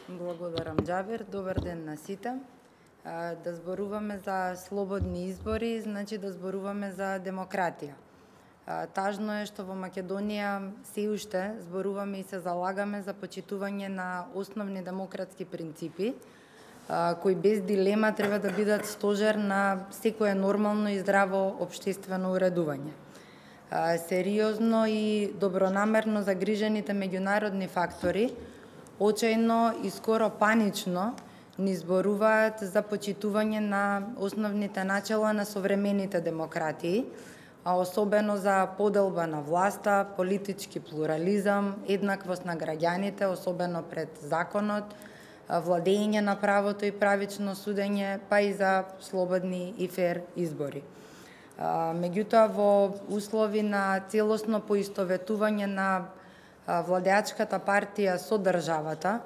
Благодарам, Џабир. Добар ден на сите. Да зборуваме за слободни избори, значи да зборуваме за демократија. Тажно е што во Македонија се уште зборуваме и се залагаме за почитување на основни демократски принципи, кои без дилема треба да бидат стожер на секое нормално и здраво општествено уредување. Сериозно и добронамерно загрижените меѓународни фактори очајно и скоро панично ни зборуваат за почитување на основните начела на современите демократии, а особено за поделба на власта, политички плурализам, еднаквост на граѓаните, особено пред законот, владење на правото и правично судење, па и за слободни и фер избори. Меѓутоа, во услови на целосно поистоветување на владеачката партија со државата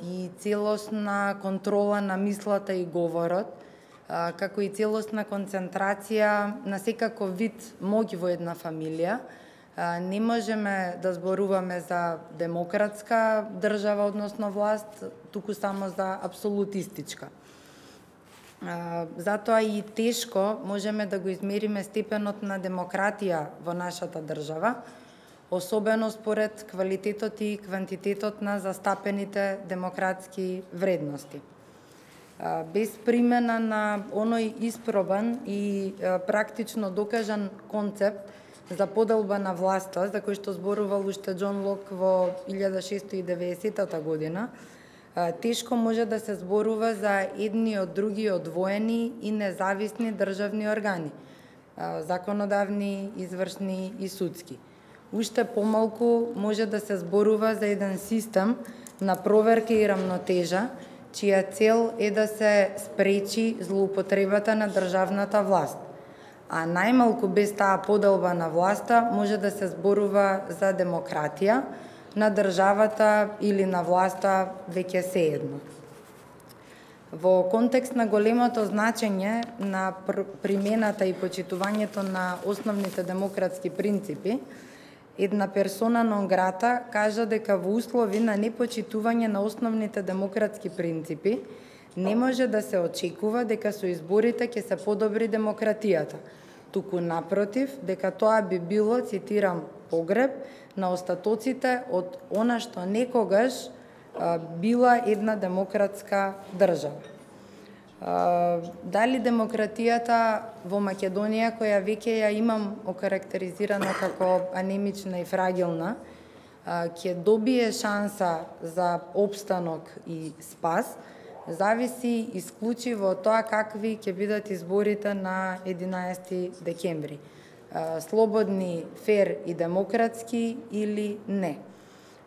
и целосна контрола на мислата и говорот, како и целосна концентрација на секаков вид моќ во една фамилија, не можеме да зборуваме за демократска држава, односно власт, туку само за апсолутистичка. Затоа и тешко можеме да го измериме степенот на демократија во нашата држава, особено според квалитетот и квантитетот на застапените демократски вредности. Без примена на оној испробан и практично докажан концепт за поделба на власта, за кој што зборувал уште Џон Лок во 1690 година, тешко може да се зборува за едни од други одвоени и независни државни органи, законодавни, извршни и судски. Уште помалку може да се зборува за еден систем на проверка и рамнотежа, чија цел е да се спречи злоупотребата на државната власт. А најмалку без таа поделба на власта може да се зборува за демократија на државата или на власта, веќе сеедно. Во контекст на големото значење на примената и почитувањето на основните демократски принципи, една персона нон грата кажа дека во услови на непочитување на основните демократски принципи не може да се очекува дека со изборите ќе се подобри демократијата, туку напротив, дека тоа би било, цитирам, погреб на остатоците од она што некогаш била една демократска држава. Дали демократијата во Македонија, која веќе ја имам окарактеризирана како анемична и фрагилна, ќе добие шанса за опстанок и спас, зависи исклучиво од тоа какви ќе бидат изборите на 11 декември. Слободни, фер и демократски или не.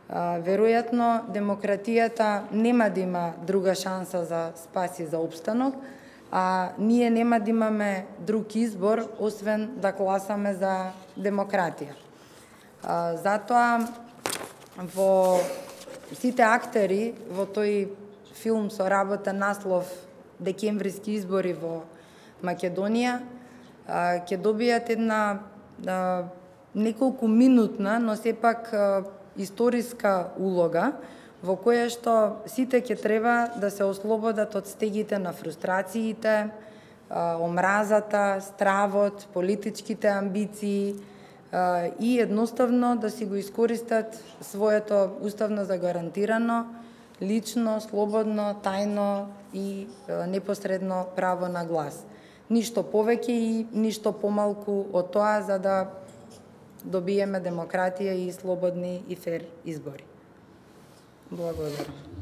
Веројатно, демократијата нема да има друга шанса за спас и за опстанок, а ние нема да имаме друг избор, освен да гласаме за демократија. Затоа, во сите актери во тој филм со работен наслов "Декемвриски избори во Македонија", ќе добијат една неколку минутна, но сепак историска улога, во која што сите ќе треба да се ослободат од стегите на фрустрациите, омразата, стравот, политичките амбиции и едноставно да си го искористат своето уставно загарантирано, лично, слободно, тајно и непосредно право на глас. Ништо повеќе и ништо помалку од тоа за да добиеме демократија и слободни и фер избори. Благодарам.